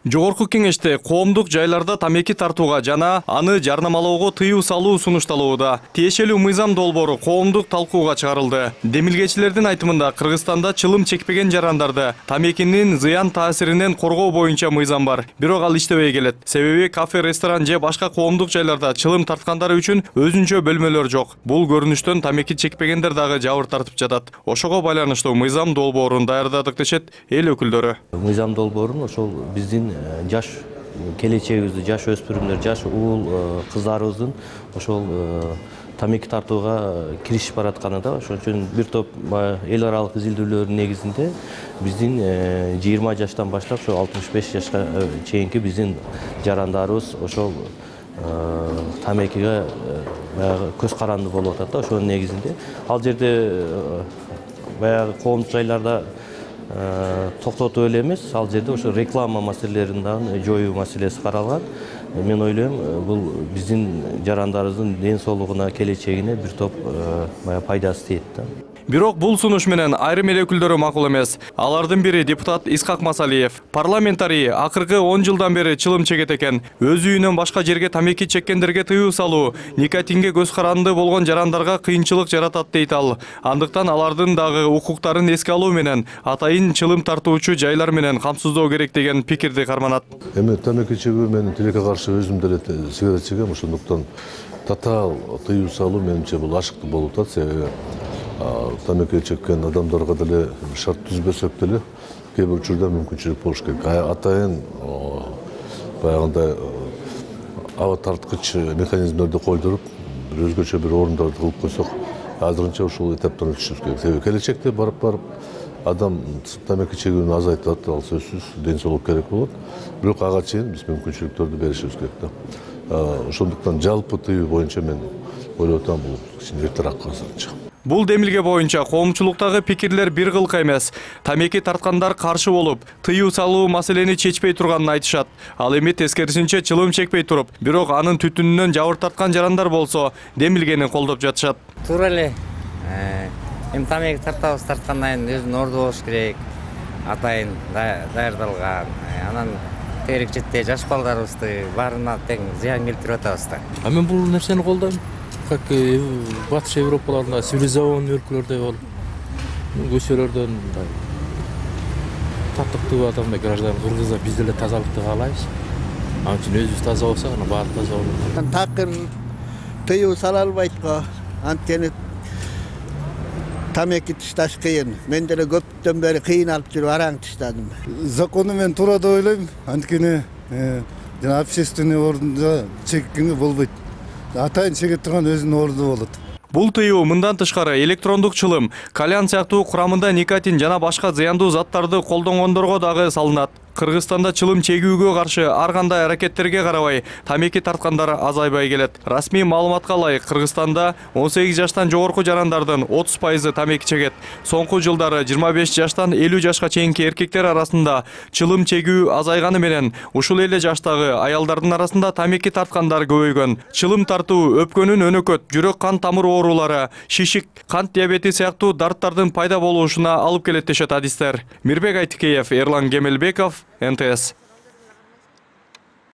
Жогорку кеңеште коомдук жайларда тамеки тартууга жана аны жарнамалоого тыюу салуу сунушталууда. Тиешелүү мыйзам долбоору коомдук талкууга чыгарылды. Демилгечилердин айтымында Кыргызстанда чылым чекпеген жарандарды тамекинин зыян таасиринен коргоо боюнча мыйзам бар. Бирок ал иштебей келет. Себеби кафе, ресторан же башка коомдук жайларда чылым тарткандар үчүн өзүнчө бөлмөлөр жок. Бул көрүнүштөн тамеки чекпегендер дагы жабыр тартып жатат. Ошого байланыштуу мыйзам долбоорун даярдадык дешет эл өкүлдөрү. Мыйзам долбоорун ошол биздин жаш келечегибизди, жаш өспүрүмдөр, жаш уул кыздарыбыздын ошол тамеки тартууга киришип баратканы да. Ошон үчүн бир топ эл аралык изилдөөлөрдүн негизинде биздин 20 жаштан баштап ошо 65 жашка чейинки биздин жарандарыбыз ошол тамекиге баягы көз каранды болуп атат да. Ошонун негизинде ал жерде баягы коомдук жайларда токтотуп эле эмес, ал жерде ошо реклама маселелерин дагы жоюу маселеси каралган. Мен ойлойм, бул биздин жарандарыбыздын ден соолугуна, келечегине бир топ пайдасы тиет да. Бирок бул сунуш менен айрым эл өкүлдөрү макул эмес. Алардын бири депутат Исхак Масалиев. Парламентарий акыркы 10 жылдан бери чылым чегет экен. Өз үйүнөн башка жерге тамеки чеккендерге тыюу салуу, никотинге көз каранды болгон жарандарга кыйынчылык жаратат дейт ал. Андыктан алардын дагы укуктарын эске алуу менен атайын чылым тартуучу жайлар менен камсыздоо керек деген пикирди карманат. Эми тамеки чегүү мен тилекке каршы өзүм деле сигарет чегем, ошондуктан татаал тыюу салуу менимче бул ашыктуу болуп атат. Себеби тамеки чеккен адамдарга деле шарт түзбөсөк деле кээ бир учурда мүмкүнчүлүк болуш керек. Атайын баягындай аба тарткыч механизмдерди койдуруп, бир өзгөчө бир орундарды кылып койсок, азырынча ушул этаптан өтүшүбүз керек. Себеби келечекте барып адам тамеки чегүүнү азайтат, ал сөзсүз ден соолук керек болот. Бирок ага чейин биз мүмкүнчүлүктөрдү беришибиз керек да. Ошондуктан жалпы тыюу боюнча мен ойлоп атам, бул кичине эртерээк азырынча. Бул демилге боюнча коомчулуктагы пикирлер бир кылка эмес. Тамеки тарткандар каршы болуп, тыюу салуу маселени чечпей турганын айтышат. Ал эми тескерисинче чылым чекпей туруп, бирок анын түтүнүнөн жабыр тарткан жарандар болсо, демилгени колдоп жатышат. Туура эле. Эми тамеки тарткандан кийин өзүнүн орду болуш керек. Атайын даярдалган. Анан тегерек четте жаш балдарыбызды баарына тең зыян келтирип атабыз да. Мен бул нерсени колдойм. Как Батыш Европаларында цивилизованный өлкөлөрдө болуп, көчөлөрдөн татыктуу адамдай граждан кыргыздар биз деле тазалыкты каалайбыз. Ал үчүн өзүбүз таза болсок, ана баары таза болот. Такыр тыюу сала албайт го. Анткени тамеки тышташ кыйын. Мен деле көптөн бери кыйналып жүрүп араң тыштадым. Закону мен туура деп ойлойм. Анткени жана общественный орунда чеккенге болбойт. Атайын чегет турган өзүнүн орду болот. Бул тыюу мындан тышкары электрондук чылым, кальян сыяктуу курамында никотин жана башка зыяндуу заттарды колдонгондорго дагы салынат. Кыргызстанда чылым чегүүгө каршы ар кандай аракеттерге карабай тамеки тарткандар азайбай келет. Расмий маалыматка ылайык, Кыргызстанда 18 жаштан жогорку жарандардын 30% тамеки чегет. Соңку жылдары 25 жаштан 50 жашка чейинки эркектер арасында чылым чегүү азайганы менен ушул эле жаштагы аялдардын арасында тамеки тарткандар көбөйгөн. Чылым тартуу өпкөнүн өнөкөт, жүрөк кан тамыр оорулары, шишик, кант диабети сыяктуу дарттардын пайда болушуна алып келет дешет адистер. Мирбек Айтикеев, Эрлан Кемелбеков, НТС.